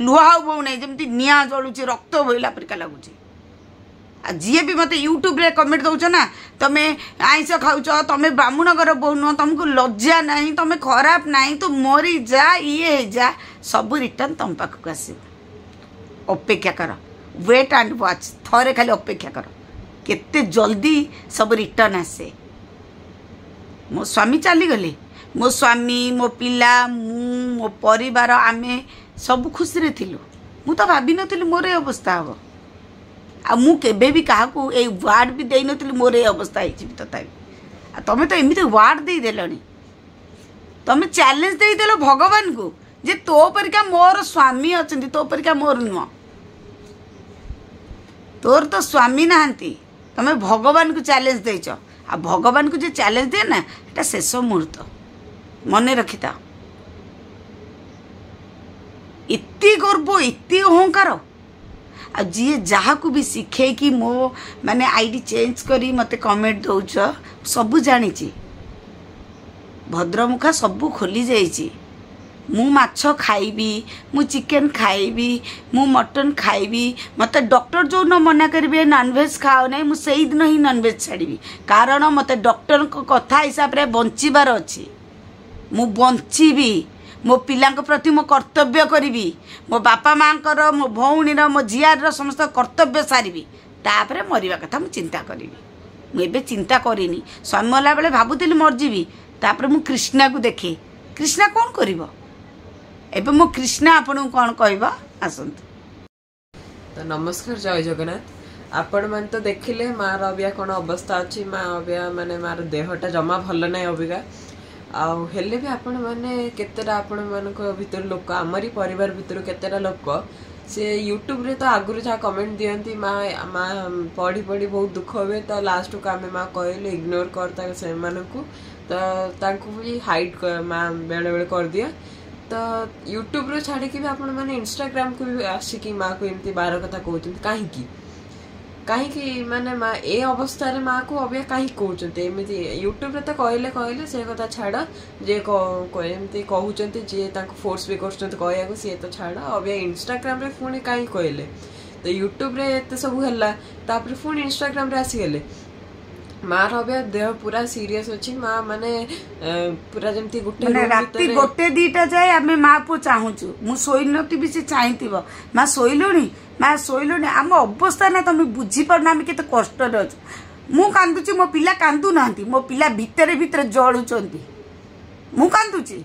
ଲୁହ ଆଉ ବୋହୁନାହିଁ, ଯେମିତି ନିଆଁ ଜଳୁଛି, ରକ୍ତ ବୋହିଲା ପରିକା ଲାଗୁଛି। ଆଉ ଯିଏ ବି ମୋତେ ୟୁଟ୍ୟୁବରେ କମେଣ୍ଟ ଦେଉଛ ନା, ତମେ ଆଇଁଷ ଖାଉଛ, ତମେ ବ୍ରାହ୍ମଣ ଘର ବୋହୂ ନୁହଁ, ତମକୁ ଲଜ୍ଜା ନାହିଁ, ତମେ ଖରାପ ନାହିଁ, ତୁ ମରିଯା, ଇଏ ହେଇଯା, ସବୁ ରିଟର୍ନ ତମ ପାଖକୁ ଆସିବ। ଅପେକ୍ଷା କର, ୱେଟ୍ ଆଣ୍ଡ ୱାଚ୍, ଥରେ ଖାଲି ଅପେକ୍ଷା କର, କେତେ ଜଲ୍ଦି ସବୁ ରିଟର୍ନ ଆସେ। ମୋ ସ୍ୱାମୀ ଚାଲିଗଲେ, ମୋ ସ୍ୱାମୀ, ମୋ ପିଲା, ମୁଁ, ମୋ ପରିବାର, ଆମେ ସବୁ ଖୁସିରେ ଥିଲୁ। ମୁଁ ତ ଭାବିନଥିଲି ମୋର ଏ ଅବସ୍ଥା ହେବ। ଆଉ ମୁଁ କେବେ ବି କାହାକୁ ଏଇ ୱାର୍ଡ଼ ବି ଦେଇନଥିଲି ମୋର ଏ ଅବସ୍ଥା ହେଇଯିବି ତଥାପି। ଆଉ ତମେ ତ ଏମିତି ୱାର୍ଡ଼ ଦେଇଦେଲଣି, ତମେ ଚ୍ୟାଲେଞ୍ଜ ଦେଇଦେଲ ଭଗବାନଙ୍କୁ ଯେ ତୋ ପରିକା ମୋର ସ୍ୱାମୀ ଅଛନ୍ତି, ତୋ ପରିକା ମୋର ନୁହଁ, ତୋର ତ ସ୍ୱାମୀ ନାହାନ୍ତି। ତମେ ଭଗବାନଙ୍କୁ ଚ୍ୟାଲେଞ୍ଜ ଦେଇଛ। ଆଉ ଭଗବାନଙ୍କୁ ଯେ ଚ୍ୟାଲେଞ୍ଜ ଦିଏ ନା, ଏଟା ଶେଷ ମୁହୂର୍ତ୍ତ, ମନେ ରଖିଥାଅ। ଏତେ ଗର୍ବ, ଏତେ ଅହଙ୍କାର। ଆଉ ଯିଏ ଯାହାକୁ ବି ଶିଖେଇକି ମୋ ମାନେ ଆଇଡି ଚେଞ୍ଜ କରି ମୋତେ କମେଣ୍ଟ ଦେଉଛ, ସବୁ ଜାଣିଛି, ଭଦ୍ରମୁଖା ସବୁ ଖୋଲି ଯାଇଛି। ମୁଁ ମାଛ ଖାଇବି, ମୁଁ ଚିକେନ୍ ଖାଇବି, ମୁଁ ମଟନ୍ ଖାଇବି। ମୋତେ ଡକ୍ଟର ଯେଉଁଦିନ ମନା କରିବେ ନନଭେଜ୍ ଖାଅ ନାହିଁ, ମୁଁ ସେଇଦିନ ହିଁ ନନଭେଜ୍ ଛାଡ଼ିବି। କାରଣ ମୋତେ ଡକ୍ଟରଙ୍କ କଥା ହିସାବରେ ବଞ୍ଚିବାର ଅଛି। ମୁଁ ବଞ୍ଚିବି, ମୋ ପିଲାଙ୍କ ପ୍ରତି ମୋ କର୍ତ୍ତବ୍ୟ କରିବି, ମୋ ବାପା ମାଆଙ୍କର, ମୋ ଭଉଣୀର, ମୋ ଝିଆରୀର ସମସ୍ତ କର୍ତ୍ତବ୍ୟ ସାରିବି, ତାପରେ ମରିବା କଥା ମୁଁ ଚିନ୍ତା କରିବି। ମୁଁ ଏବେ ଚିନ୍ତା କରିନି। ସ୍ୱାମୀ ମଲା ବେଳେ ଭାବୁଥିଲି ମରିଯିବି, ତାପରେ ମୁଁ କୃଷ୍ଣାକୁ ଦେଖେ, କୃଷ୍ଣା କ'ଣ କରିବ। ଏବେ ମୋ କୃଷ୍ଣା ଆପଣଙ୍କୁ କ'ଣ କହିବ, ଆସନ୍ତୁ। ତ ନମସ୍କାର, ଜୟ ଜଗନ୍ନାଥ। ଆପଣମାନେ ତ ଦେଖିଲେ ମାର ଅବିକା କ'ଣ ଅବସ୍ଥା ଅଛି। ମା ଅବିକା ମାନେ ମାର ଦେହଟା ଜମା ଭଲ ନାହିଁ ଅବିକା। ଆଉ ହେଲେ ବି ଆପଣମାନେ କେତେଟା, ଆପଣମାନଙ୍କ ଭିତରୁ ଲୋକ, ଆମରି ପରିବାର ଭିତରୁ କେତେଟା ଲୋକ ସେ ୟୁଟ୍ୟୁବରେ ତ ଆଗରୁ ଯାହା କମେଣ୍ଟ ଦିଅନ୍ତି, ମା ମା ପଢ଼ି ପଢ଼ି ବହୁତ ଦୁଃଖ ହୁଏ। ତ ଲାଷ୍ଟକୁ ଆମେ ମା କହିଲେ ଇଗ୍ନୋର କର ତା ସେମାନଙ୍କୁ, ତ ତାଙ୍କୁ ବି ହାଇଡ୍ ମା ବେଳେବେଳେ କରିଦିଏ। ତ ୟୁଟ୍ୟୁବରୁ ଛାଡ଼ିକି ବି ଆପଣମାନେ ଇନଷ୍ଟାଗ୍ରାମକୁ ବି ଆସିକି ମାଆକୁ ଏମିତି ବାର କଥା କହୁଛନ୍ତି କାହିଁକି? କାହିଁକି ମାନେ ମା ଏ ଅବସ୍ଥାରେ ମାଆକୁ ଅବିକା କାହିଁକି କହୁଛନ୍ତି ଏମିତି? ୟୁଟ୍ୟୁବରେ ତ କହିଲେ କହିଲେ ସେ କଥା ଛାଡ଼, ଯିଏ ଏମିତି କହୁଛନ୍ତି, ଯିଏ ତାଙ୍କୁ ଫୋର୍ସ ବି କରୁଛନ୍ତି କହିବାକୁ ସିଏ ତ ଛାଡ଼, ଅବିକା ଇନଷ୍ଟାଗ୍ରାମରେ ପୁଣି କାହିଁକି କହିଲେ? ତ ୟୁଟ୍ୟୁବରେ ଏତେ ସବୁ ହେଲା, ତାପରେ ପୁଣି ଇନଷ୍ଟାଗ୍ରାମରେ ଆସିଗଲେ। ମାର ଅବିକା ଦେହ ପୁରା ସିରିୟସ୍ ଅଛି। ମା ମାନେ ପୁରା ଯେମିତି ଗୋଟେ ମାନେ ରାତି 1 2ଟା ଯାଏ ଆମେ ମା ପୁଅ ଚାହୁଁଛୁ। ମୁଁ ଶୋଇନଥିବି, ସେ ଚାହିଁଥିବ, ମା ଶୋଇଲୁଣି, ମା ଶୋଇଲୁଣି। ଆମ ଅବସ୍ଥା ନା ତମେ ବୁଝିପାରୁନ ଆମେ କେତେ କଷ୍ଟରେ ଅଛୁ। ମୁଁ କାନ୍ଦୁଛି, ମୋ ପିଲା କାନ୍ଦୁନାହାନ୍ତି, ମୋ ପିଲା ଭିତରେ ଭିତରେ ଜଳୁଛନ୍ତି। ମୁଁ କାନ୍ଦୁଛି,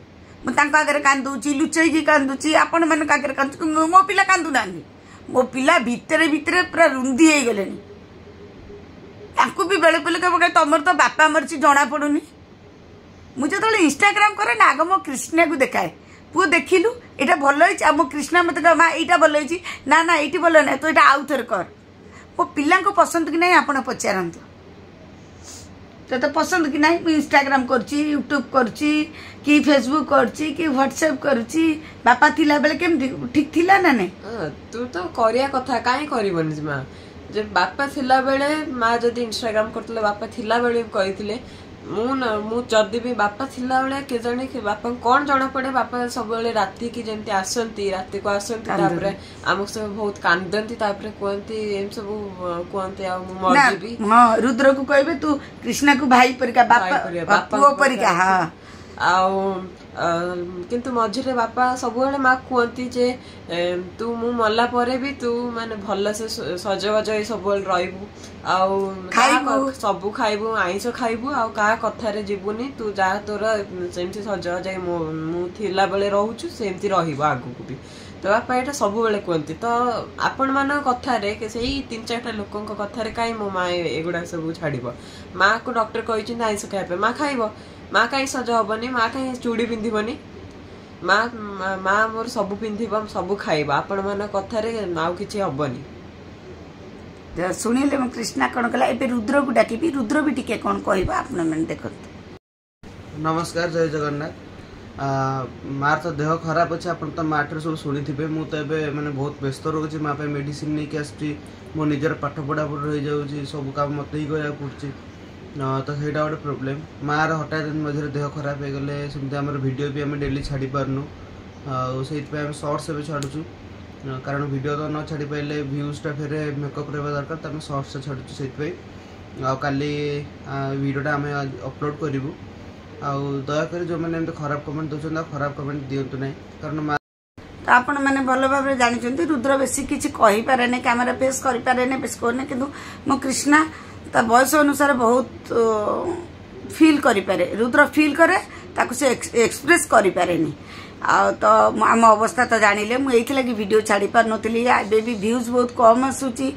ମୁଁ ତାଙ୍କ ଆଗରେ କାନ୍ଦୁଛି, ଲୁଚେଇକି କାନ୍ଦୁଛି, ଆପଣମାନଙ୍କ ଆଗରେ କାନ୍ଦୁଛି, ମୋ ପିଲା କାନ୍ଦୁନାହାନ୍ତି। ମୋ ପିଲା ଭିତରେ ଭିତରେ ପୁରା ରୁନ୍ଧି ହେଇଗଲେଣି। ତାଙ୍କୁ ବି ବେଳେ ବେଳେ କହିବ ତମର ତ ବାପା ମରିଛି ଜଣା ପଡୁନି। ମୁଁ ଯେତେବେଳେ ଇନଷ୍ଟାଗ୍ରାମ କରେ ନା, ଆଗ ମୋ କୃଷ୍ଣାକୁ ଦେଖାଏ, ପୁଅ ଦେଖିଲୁ ଏଇଟା ଭଲ ହେଇଛି। ଆଉ ମୋ କୃଷ୍ଣା ମୋତେ କହିବ ମା ଏଇଟା ଭଲ ହେଇଛି, ନା ନା ଏଇଠି ଭଲ ନାହିଁ, ତୁ ଏଇଟା ଆଉ ଥରେ କର। ମୋ ପିଲାଙ୍କୁ ପସନ୍ଦ କି ନାହିଁ ଆପଣ ପଚାରନ୍ତୁ, ତୋତେ ପସନ୍ଦ କି ନାହିଁ? ମୁଁ ଇନଷ୍ଟାଗ୍ରାମ କରୁଛି, ୟୁଟ୍ୟୁବ କରୁଛି, କି ଫେସବୁକ୍ କରୁଛି, କି ହ୍ୱାଟ୍ସଆପ୍ କରୁଛି। ବାପା ଥିଲାବେଳେ କେମିତି ଠିକ୍ ଥିଲା ନା ନାଇଁ? ତୁ ତ କରିବା କଥା, କାହିଁ କରିବନି ମା? ଯେ ବାପା ଥିଲାବେଳେ ମା ଯଦି ଇନଷ୍ଟାଗ୍ରାମ କରୁଥିଲେ, ବାପା ଥିଲାବେଳେ ବି କହିଥିଲେ, ମୁଁ ନା ମୁଁ ଯଦି ବି ବାପା ଥିଲାବେଳେ କେଜାଣି ବାପାଙ୍କୁ କଣ ଜଣା ପଡେ, ବାପା ସବୁବେଳେ ରାତିକି ଯେମିତି ଆସନ୍ତି, ରାତିକୁ ଆସନ୍ତି, ତାପରେ ଆମକୁ ସବୁ ବହୁତ କାନ୍ଦନ୍ତି, ତାପରେ କୁହନ୍ତି ଏମିତି ସବୁ କୁହନ୍ତି ଆଉ ମୁଁ ମରିଯିବି। ହଁ, ରୁଦ୍ରକୁ କହିବେ ତୁ କୃଷ୍ଣାକୁ ଭାଇ ପରିକା, ବାପା ପୁଅ ପରିକା। ହଁ, ଆଉ କିନ୍ତୁ ମଝିରେ ବାପା ସବୁବେଳେ ମା କୁହନ୍ତି ଯେ ତୁ ମୁଁ ମଲା ପରେ ବି ତୁ ମାନେ ଭଲସେ ସଜବାଜ ହେଇ ସବୁବେଳେ ରହିବୁ, ଆଉ ସବୁ ଖାଇବୁ, ଆଇଁଷ ଖାଇବୁ, ଆଉ କାହା କଥାରେ ଯିବୁନି, ତୁ ଯାହା ତୋର ସେମିତି ସଜବାଜ ହେଇ ମୁଁ ଥିଲାବେଳେ ରହୁଛୁ ସେମିତି ରହିବ ଆଗକୁ ବି। ତ ବାପା ଏଇଟା ସବୁବେଳେ କୁହନ୍ତି। ତ ଆପଣମାନଙ୍କ କଥାରେ, ସେଇ 3 4ଟା ଲୋକଙ୍କ କଥାରେ କାହିଁ ମୋ ମା ଏଗୁଡା ସବୁ ଛାଡିବ? ମାକୁ ଡକ୍ଟର କହିଛନ୍ତି ଆଇଁଷ ଖାଇବା ପାଇଁ, ମା ଖାଇବ। ମା କାହିଁ ସଜ ହବନି? ମା କାହିଁ ଚୁଡ଼ି ପିନ୍ଧିବନି? ମା ମା ମୋର ସବୁ ପିନ୍ଧିବ, ସବୁ ଖାଇବ। ଆପଣମାନଙ୍କ କଥାରେ ଆଉ କିଛି ହବନି। ଶୁଣିଲେ ମୁଁ କୃଷ୍ଣା କ'ଣ କଲା। ଏବେ ରୁଦ୍ରକୁ ଡାକିବି, ରୁଦ୍ର ବି ଟିକେ କ'ଣ କହିବ, ଆପଣମାନେ ଦେଖନ୍ତୁ। ନମସ୍କାର, ଜୟ ଜଗନ୍ନାଥ। ମାର ତ ଦେହ ଖରାପ ଅଛି, ଆପଣ ତ ମାଠାରୁ ସବୁ ଶୁଣିଥିବେ। ମୁଁ ତ ଏବେ ମାନେ ବହୁତ ବ୍ୟସ୍ତ ରହୁଛି, ମା ପାଇଁ ମେଡ଼ିସିନ ନେଇକି ଆସୁଛି, ମୋ ନିଜର ପାଠ ପଢ଼ାପଢ଼ି ରହିଯାଉଛି, ସବୁ କାମ ମୋତେ ହିଁ କରିବାକୁ ପଡ଼ୁଛି। ତ ସେଇଟା ଗୋଟେ ପ୍ରୋବ୍ଲେମ୍। ମାର ହଠାତ୍ ମଝିରେ ଦେହ ଖରାପ ହେଇଗଲେ ସେମିତି ଆମର ଭିଡ଼ିଓ ବି ଆମେ ଡେଲି ଛାଡ଼ି ପାରୁନୁ, ଆଉ ସେଇଥିପାଇଁ ଆମେ ସର୍ଟସ୍ ଏବେ ଛାଡ଼ୁଛୁ, କାରଣ ଭିଡ଼ିଓ ତ ନ ଛାଡ଼ି ପାରିଲେ ଭ୍ୟୁଜ୍ଟା ଫେରେ ମେକଅପ୍ ରହିବା ଦରକାର, ତ ଆମେ ସର୍ଟସ୍ଟା ଛାଡ଼ୁଛୁ ସେଇଥିପାଇଁ। ଆଉ କାଲି ଭିଡ଼ିଓଟା ଆମେ ଅପଲୋଡ଼ କରିବୁ। ଆଉ ଦୟାକରି ଯେଉଁମାନେ ଏମିତି ଖରାପ କମେଣ୍ଟ ଦେଉଛନ୍ତି, ଆଉ ଖରାପ କମେଣ୍ଟ ଦିଅନ୍ତୁ ନାହିଁ, କାରଣ ମା ତ ଆପଣମାନେ ଭଲ ଭାବରେ ଜାଣିଛନ୍ତି, ରୁଦ୍ର ବେଶୀ କିଛି କହିପାରେନି, କ୍ୟାମେରା ଫେସ୍ କରିପାରେନି, ବେଶୀ କହୁନି। କିନ୍ତୁ ମୋ କୃଷ୍ଣା ତା ବୟସ ଅନୁସାରେ ବହୁତ ଫିଲ୍ କରିପାରେ। ରୁଦ୍ର ଫିଲ୍ କରେ, ତାକୁ ସେ ଏକ୍ସପ୍ରେସ୍ କରିପାରେନି। ଆଉ ତ ଆମ ଅବସ୍ଥା ତ ଜାଣିଲେ, ମୁଁ ଏଇଥିଲାଗି ଭିଡ଼ିଓ ଛାଡ଼ି ପାରୁନଥିଲି। ଏବେ ବି ଭ୍ୟୁଜ୍ ବହୁତ କମ୍ ଆସୁଛି,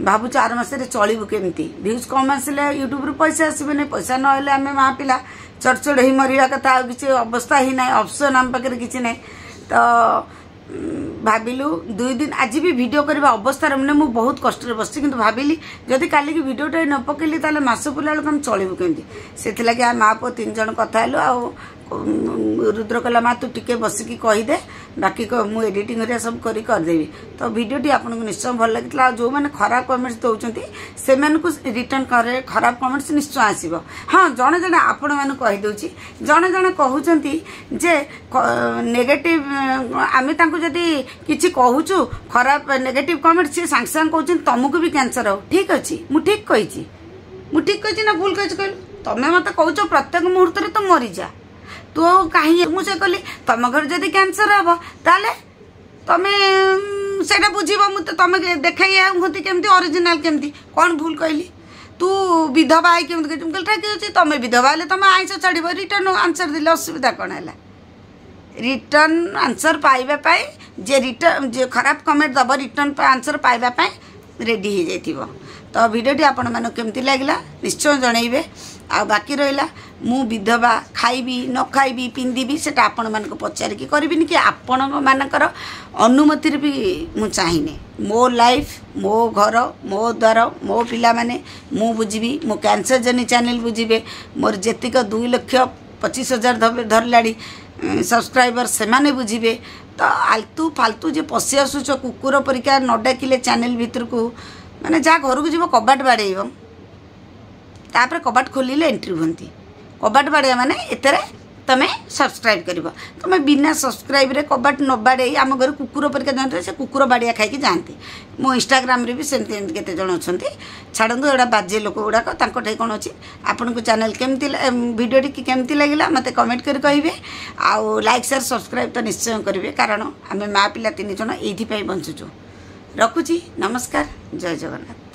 ଭାବୁଛୁ ଆର ମାସରେ ଚଳିବୁ କେମିତି। ଭ୍ୟୁଜ୍ କମ୍ ଆସିଲେ ୟୁଟ୍ୟୁବରୁ ପଇସା ଆସିବନି, ପଇସା ନହେଲେ ଆମେ ମା ପିଲା ଚଡ଼ଚଡ଼ ହେଇ ମରିବା କଥା, ଆଉ କିଛି ଅବସ୍ଥା ହିଁ ନାହିଁ, ଅପସନ୍ ଆମ ପାଖରେ କିଛି ନାହିଁ। ତ ଭାବିଲୁ 2 ଦିନ ଆଜି ବି ଭିଡ଼ିଓ କରିବା ଅବସ୍ଥାରେ, ମାନେ ମୁଁ ବହୁତ କଷ୍ଟରେ ବସିଛି, କିନ୍ତୁ ଭାବିଲି ଯଦି କାଲିକି ଭିଡ଼ିଓଟା ନ ପକେଇଲି ତାହେଲେ ମାସ ପୁରିଲା ବେଳକୁ ଆମେ ଚଳିବୁ କେମିତି। ସେଥିଲାଗି ଆମେ ମା ପୁଅ 3 ଜଣ କଥା ହେଲୁ। ଆଉ ରୁଦ୍ର କହିଲା, ମା ତୁ ଟିକେ ବସିକି କହିଦେ, ବାକି ମୁଁ ଏଡ଼ିଟିଂ ହେରିକା ସବୁ କରି କରିଦେବି। ତ ଭିଡ଼ିଓଟି ଆପଣଙ୍କୁ ନିଶ୍ଚୟ ଭଲ ଲାଗିଥିଲା। ଆଉ ଯେଉଁମାନେ ଖରାପ କମେଣ୍ଟସ୍ ଦେଉଛନ୍ତି ସେମାନଙ୍କୁ ରିଟର୍ନ କରେ ଖରାପ କମେଣ୍ଟସ୍ ନିଶ୍ଚୟ ଆସିବ। ହଁ, ଜଣେ ଜଣେ ଆପଣମାନଙ୍କୁ କହିଦେଉଛି, ଜଣେ ଜଣେ କହୁଛନ୍ତି ଯେ ନେଗେଟିଭ୍, ଆମେ ତାଙ୍କୁ ଯଦି କିଛି କହୁଛୁ ଖରାପ ନେଗେଟିଭ୍ କମେଣ୍ଟ, ସିଏ ସାଙ୍ଗେ ସାଙ୍ଗେ କହୁଛନ୍ତି ତମକୁ ବି କ୍ୟାନ୍ସର ହଉ। ଠିକ୍ ଅଛି, ମୁଁ ଠିକ୍ କହିଛି, ମୁଁ ଠିକ୍ କହିଛି ନା ଭୁଲ କହିଛି କହିଲୁ? ତମେ ମୋତେ କହୁଛ ପ୍ରତ୍ୟେକ ମୁହୂର୍ତ୍ତରେ ତୁ ମରିଯା, ତୁ କାହିଁ? ମୁଁ ସେ କହିଲି ତମ ଘରେ ଯଦି କ୍ୟାନ୍ସର ହବ ତାହେଲେ ତମେ ସେଇଟା ବୁଝିବ। ମୁଁ ତ ତମେ ଦେଖେଇ ହୁଅନ୍ତି କେମିତି ଅରିଜିନାଲ କେମିତି କ'ଣ ଭୁଲ କହିଲି? ତୁ ବିଧବା ହେଇ କେମିତି କହିଛୁ? ମୁଁ କହିଲି ଠିକ୍ ଅଛି, ତମେ ବିଧବା ହେଲେ ତମେ ଆଇଁଷ ଛାଡ଼ିବ। ରିଟର୍ନ ଆନ୍ସର ଦେଲେ ଅସୁବିଧା କ'ଣ ହେଲା? ରିଟର୍ନ ଆନ୍ସର ପାଇବା ପାଇଁ ଯେ ରିଟର୍ନ ଯେ ଖରାପ କମେଣ୍ଟ ଦେବ, ରିଟର୍ନ ଆନ୍ସର ପାଇବା ପାଇଁ ରେଡ଼ି ହେଇଯାଇଥିବ। ତ ଭିଡ଼ିଓଟି ଆପଣମାନଙ୍କୁ କେମିତି ଲାଗିଲା ନିଶ୍ଚୟ ଜଣେଇବେ। ଆଉ ବାକି ରହିଲା ମୁଁ ବିଧବା ଖାଇବି ନ ଖାଇବି ପିନ୍ଧିବି, ସେଟା ଆପଣମାନଙ୍କୁ ପଚାରିକି କରିବିନି କି ଆପଣମାନଙ୍କର ଅନୁମତିରେ ବି ମୁଁ ଚାହିଁନି। ମୋ ଲାଇଫ୍, ମୋ ଘର, ମୋ ଦ୍ୱାର, ମୋ ପିଲାମାନେ ମୁଁ ବୁଝିବି, ମୋ କ୍ୟାନ୍ସର ଜର୍ଣ୍ଣି ଚ୍ୟାନେଲ୍ ବୁଝିବେ, ମୋର ଯେତିକ 2,25,000 ଧରିଲାଣି ସବସ୍କ୍ରାଇବର ସେମାନେ ବୁଝିବେ। ତ ଆଲତୁ ଫାଲତୁ ଯେ ପଶି ଆସୁଛ କୁକୁର ପରିକା ନ ଡାକିଲେ ଚ୍ୟାନେଲ୍ ଭିତରକୁ, ମାନେ ଯାହା ଘରକୁ ଯିବ କବାଟ ବାଡ଼େଇବ, ତାପରେ କବାଟ ଖୋଲିଲେ ଏଣ୍ଟ୍ରି ହୁଅନ୍ତି। କବାଟ ବାଡ଼େଇବା ମାନେ ଏଥିରେ ତମେ ସବସ୍କ୍ରାଇବ୍ କରିବ। ତମେ ବିନା ସବସ୍କ୍ରାଇବ୍ରେ କବାଟ ନ ବାଡ଼େଇ ଆମ ଘରେ କୁକୁର ପରିକା ଯାଆନ୍ତି, ସେ କୁକୁର ବାଡ଼ିଆ ଖାଇକି ଯାଆନ୍ତି। ମୋ ଇନଷ୍ଟାଗ୍ରାମରେ ବି ସେମିତି ଏମିତି କେତେ ଜଣ ଅଛନ୍ତି। ଛାଡ଼ନ୍ତୁ, ଏଗୁଡ଼ା ବାଜେ ଲୋକ ଗୁଡ଼ାକ, ତାଙ୍କଠାଇ କ'ଣ ଅଛି। ଆପଣଙ୍କୁ ଚ୍ୟାନେଲ୍ କେମିତି, ଭିଡ଼ିଓଟି କେମିତି ଲାଗିଲା ମୋତେ କମେଣ୍ଟ କରି କହିବେ। ଆଉ ଲାଇକ୍, ସେୟାର, ସବସ୍କ୍ରାଇବ୍ ତ ନିଶ୍ଚୟ କରିବେ, କାରଣ ଆମେ ମା ପିଲା 3 ଜଣ ଏଇଥିପାଇଁ ବଞ୍ଚୁଛୁ। ରଖୁଛି, ନମସ୍କାର, ଜୟ ଜଗନ୍ନାଥ।